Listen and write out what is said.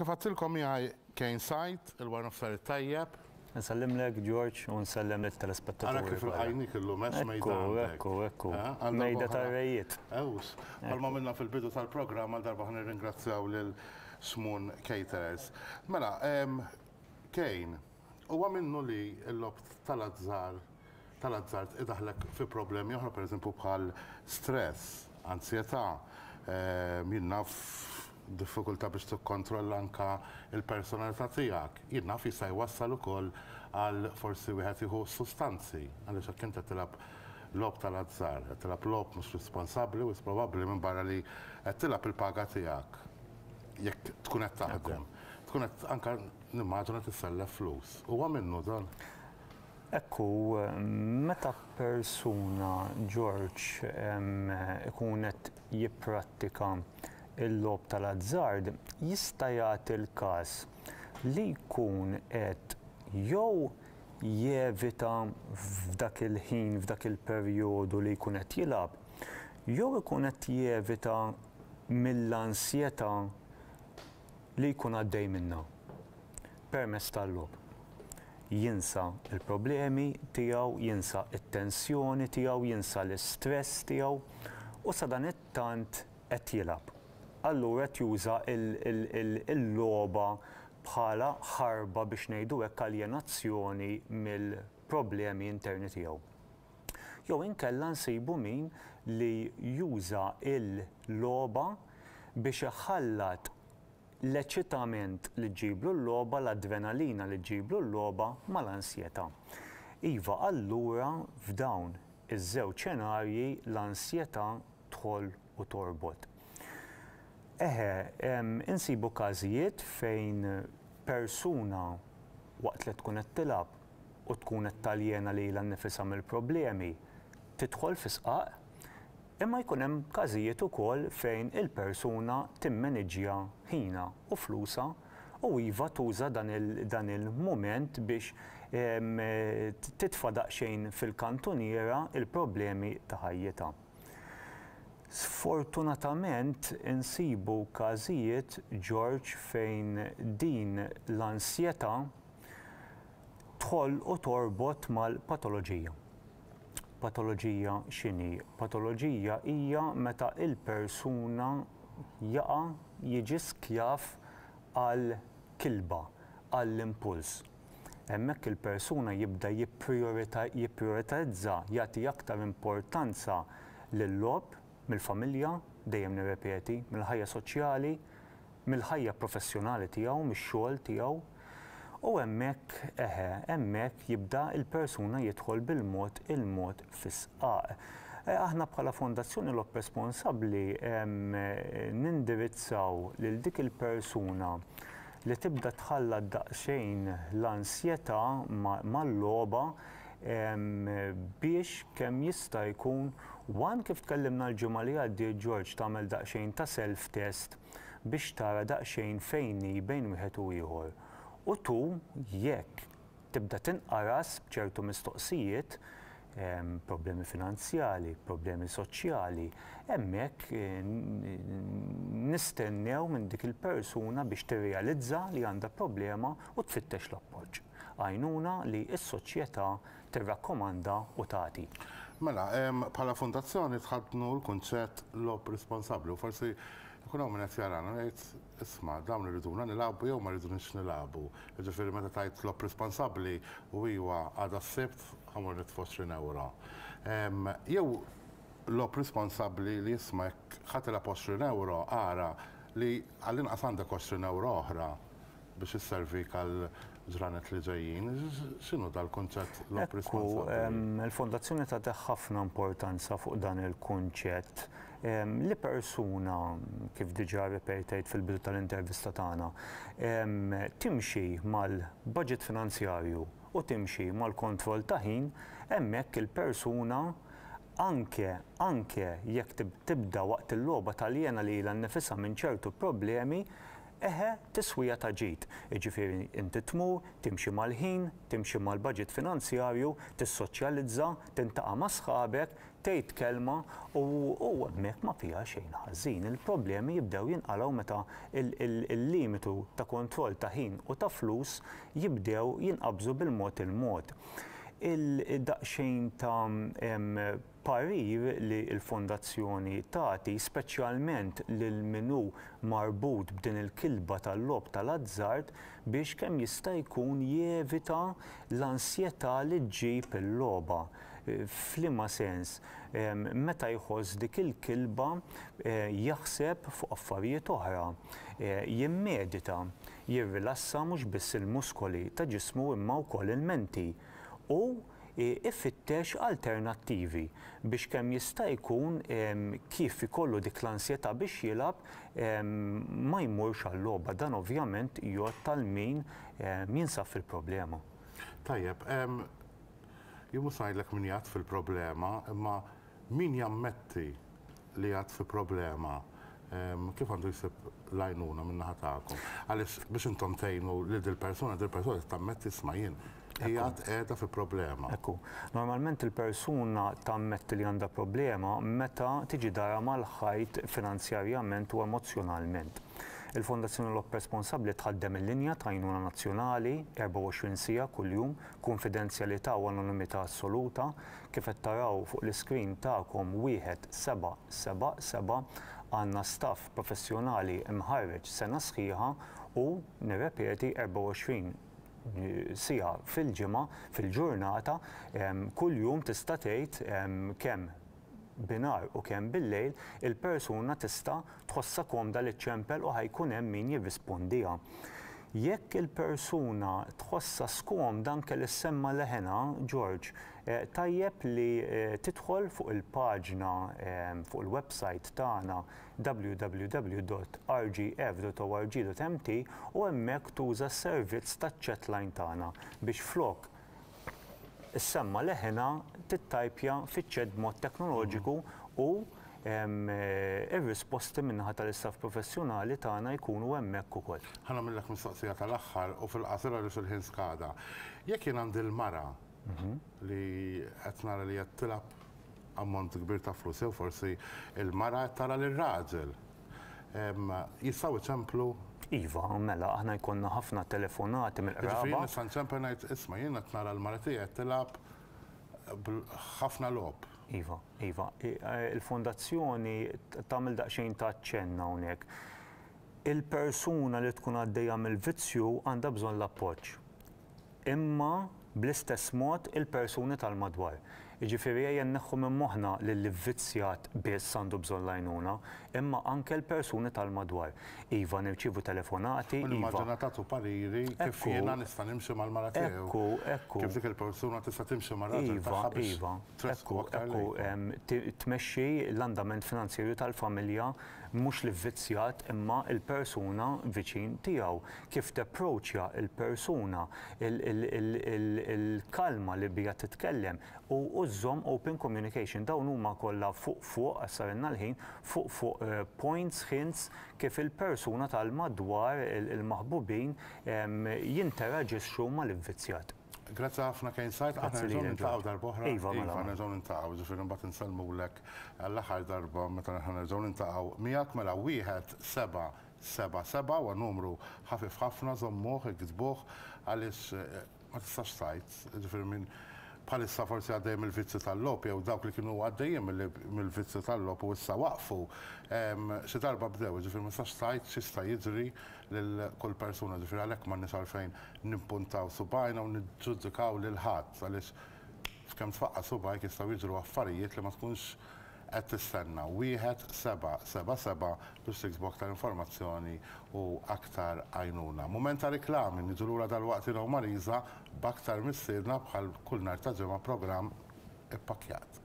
kif għedtilkom miegħi Kane Said, il-wara nofsar it-tajjeb. Nsellimlek George u nsellem lit-telespettaturi. Ara kif ilqajnik illum hekk mejda għandek. Ekku, ekku, ekku. Mejda tar-rejiet. Ewws. Bħalma għamilna fil-bidu tal-programm għal darba ħa nirringrazzjaw lil Xmun Caterers. Mela, Kane, huwa minnu li l-logħob tal-azzar tal-azzard idaħħlek fi problemi oħra, pereżempju bħal stress, anzjetà, jien naf diffikultà biex tikkontrolla anke l-personalità tiegħek. Jien naf jista' jwassal ukoll għal forsi wieħed jieħu sustanzi, għaliex jekk int qed tilgħab logħob tal-azzar, qed tilgħab logħob mhux responsabbli wisq probabbli minbarra li qed tilgħab il-paga tiegħek jekk tkun qed taħdem, tkun qed anke nimmaġina tissellef flus. Huwa minnu dan? Hekk hu, meta persuna, George, ikun qed jipprattika l-logħob tal-azzard, jista' jagħti l-każ li jkun qed jew jevita f'dak il-ħin, f'dak il-perjodu li jkun qed jilgħab, jew ikun qed jevita mill-ansjetà li jkun għaddej minnha permezz tal-logħob. Jinsa l-problemi tiegħu, jinsa t-tensjoni tiegħu, jinsa l-istress tiegħu u sadanittant qed jilgħab. Allura qed juża l-logħba bħala ħarba biex ngħidu hekk aljenazzjoni mill-problemi interni tiegħu. Jew inkella nsibu min li juża l-logħba biex iħallat l-eċitament li ġġiblu l-logħba, l-adrenalina li ġġiblu l-logħba mal-ansjetà. Iva, allura f'dawn iż-żewġ xenarji l-ansjetà tħoll u torbot. Eħe, insibu każijiet fejn persuna waqt li tkun qed tilgħab u tkun qed taljena lilha nnifisha mill-problemi, tidħol fi sqaq, imma jkun hemm każijiet ukoll fejn il-persuna timmeniġġja ħinha u flusha u iva tuża dan il-mument biex titfa' daqsxejn fil-kantuniera l-problemi ta' ħajjitha. Sfortunatament insibu każijiet, George, fejn din l-ansjetà tħoll u torbot mal-patoloġija. Patoloġija x'inhi? Patoloġija hija meta l-persuna jaqa' jiġi skjav għal kilba, għall-impuls. Hemmhekk il-persuna jibda jipprijoritizza, jagħti aktar importanza lil-logħob mill-familja, dejjem nirrepeti, mill-ħajja soċjali, mill-ħajja professjonali tiegħu, mix-xogħol tiegħu. U hemmhekk, eħe, hemmhekk jibda l-persuna jidħol bil-mod il-mod fis-sqaq. Aħna bħala Fondazzjoni Logħob Responsabbli nindirizzaw lil dik il-persuna li tibda tħallat daqsxejn l-ansjetà mal-logħba biex kemm jista' jkun one kif tkellimna l-ġimgħa li għaddiet George tagħmel daqsxejn ta' self test biex tara daqsxejn fejn hi bejn wieħed u ieħor. U two jekk tibda tinqaras b'ċertu mistoqsijiet, problemi finanzjali, problemi soċjali, hemmhekk nistennew minn dik il-persuna biex tirrealizza li għandha problema u tfittex l-appoġġ. Għajnuna li s-soċjetà tirrakkomanda u tagħti. Mela, bħala fondazzjoni tħaddnu l-kunċett logħob responsabbli u forsi jkun hawn min qed jarana u jgħid isma' dawn iriduna nilagħbu jew ma jridunix nilagħbu. Jiġifieri meta tgħid logħob responsabbli u iwa għada s-Sibt ħa mmur nitfa' 20 ewro. Jew logħob responsabbli li isma' jekk ħa tilgħab 20 ewro ara li għall-inqas għandek 20 ewro oħra biex isservik għal ġranet li ġejjin. X'inhu dal-kunċett logħob responsabbli? Ekku, il-Fondazzjoni tagħti ħafna importanza fuq dan il-kunċett li persuna, kif diġà rrepetejt fil-bidu tal-intervista tagħna, timxi mal-budget finanzjarju u timxi mal-kontroll ta' ħin, hemmhekk il-persuna anke anke jekk tibda waqt il-logħba taljena lilha nnifisha minn ċertu problemi, Eħe, tiswija ta' ġid. Jiġifieri inti tmur, timxi mal-ħin, timxi mal-baġit finanzjarju, tissoċjalizza, tintaqa' ma' sħabek, tgħid kelma u u hemmhekk ma fiha xejn ħażin. Il-problemi jibdew jinqalgħu meta il-limitu ta' kontroll ta' ħin u ta' flus jibdew jinqabżu bil-mod il-mod. Il-daqsxejn ta' parir li l-Fondazzjoni tagħti, speċjalment lil min hu marbut b'din il-kilba tal-logħob tal-azzard, biex kemm jista' jkun jevita l-ansjetà li ġġib il-logħba. F'liema sens? Meta jħoss dik il-kilba jaħseb fuq affarijiet oħra, jimmedita, jirrilassa mhux biss il-muskoli ta' ġismu imma wkoll il-menti u ifittex alternattivi biex kemm jista' jkun kif ikollu dik l-ansjetà biex jilgħab ma jmurx għal-logħba. Dan ovvjament jgħodd għal min jinsab fil-problema. Tajjeb, jien mhux se ngħidlek min jgħadd fil-problema, imma min jammetti li jgħadd fi problema, kif għandu jsib l-għajnuna min-naħa tagħkom? Għaliex biex intom tgħinu lil dil-persuna, dil-persuna trid tammetti isma' jien qiegħed qiegħda fi problema. Ekku. Normalment il-persuna tammetti li għandha problema meta tiġi dara mal-ħajt finanzjarjament u emozzjonalment. Il-Fondazzjoni Logħob Responsabbli tħaddem il-linja ta' għajnuna nazzjonali 24 siegħa kuljum, kunfidenzjalità u anonimità assoluta. Kif qed taraw fuq l-iskrin tagħkom 1777 għandna staff professjonali mħarreġ sena sħiħa u, nirrepeti, 24 siegħa fil-ġimgħa, fil-ġurnata, kuljum tista' tgħid kemm binhar u kemm billejl, il-persuna tista' tħossha komda li ċċempel u ħa jkun hemm min jirrispondiha. Jekk il-persuna tħossha skomda anke li ssemma' leħenha, George, tajjeb li tidħol fuq il-paġna fuq il-website tagħna www.rgf.org.mt u hemmhekk tuża s-servizz taċ-chat line tagħna biex flok issemma' leħinha tittajpja fiċ-chat b'mod teknoloġiku u r-risposti min-naħa tal-istaff professjonali tagħna jkunu hemmhekk ukoll. Ħa nagħmillek mistoqsija tal-aħħar u fil-qasir għaliex il-ħin skada. Jekk jien għandi l-mara li qed nara li qed tilgħab ammont kbir ta' flus jew forsi l-mara qed tara lir-raġel, jistgħu jċemplu? Iva, mela, aħna jkollna ħafna telefonati mill-qraba. Jiġifieri jien nista' nċempel ngħid isma' jien qed nara l-mara tiegħi qed tilgħab ħafna logħob. Iva, iva. Il-fondazzjoni tagħmel daqsxejn ta' aċċenn hawnhekk. Il-persuna li tkun għaddejja mill-vizzju għandha bżonn l-appoġġ. Imma bl-istess mod il-persuni tal-madwar. Jiġifieri ejja nneħħu minn moħħna li l-ivvizzjat biss għandu bżonn l-għajnuna, imma anke l-persuni tal-madwar. Iva nirċievu telefonati, U iva. nimmaġina tagħtu pariri kif Ekku. jiena nista' nimxi mal-mara tiegħi u Ekku, ekku. kif dik il-persuna tista' timxi mar-raġel Iva, tagħha biex iva. tressqu Ekku, aktar ekku, lejkom. em, ti- tmexxi l-andament finanzjarju tal-familja mhux l-ivvizzjat imma l-persuna viċin tiegħu, kif tapproachja l-persuna, il-kalma li biha titkellem u żżomm open communication. Dawn huma kollha fuq fuq, għax sarilna l-ħin, fuq fuq points, hints kif il-persuna tal-madwar, il-maħbubin jinteraġixxu mal-ivvizzjat. Grazzi ħafna Kane Said, aħna Grazzi nerġgħu lilek, niltaqgħu George. darb'oħra. Iva, mela, Iva, mela. nerġgħu niltaqgħu, ġifieri mbagħad insellmulek għall-aħħar darba meta aħna nerġgħu niltaqgħu miegħek mela wieħed seba' seba' seba' huwa numru ħafif ħafna żommuh, iktbuh għaliex ma tistax tgħid, ġifieri min bħalissa forsi għaddej mill-vizzju tal-logħob jew dawk li kienu għaddejjin mill-vizzju tal-logħob u issa waqfu, xi darba bdew, ġifieri ma tistax tgħid x'jista' jiġri lil kull persuna, ġifieri għalhekk m'għandniex għalfejn nimpuntaw subgħajna u niġġudikaw lil ħadd għaliex f'kemm tfaqqa' subgħajk jistgħu jiġru affarijiet li ma tkunx qed tistenna. Wieħed seba' seba' seba' biex tiksbu aktar informazzjoni u aktar għajnuna. Mument ta' riklami, niġu lura dalwaqt jiena u Marisa b'aktar mistiedna bħal kull nhar ta' ġimgħa programm ippakkjat.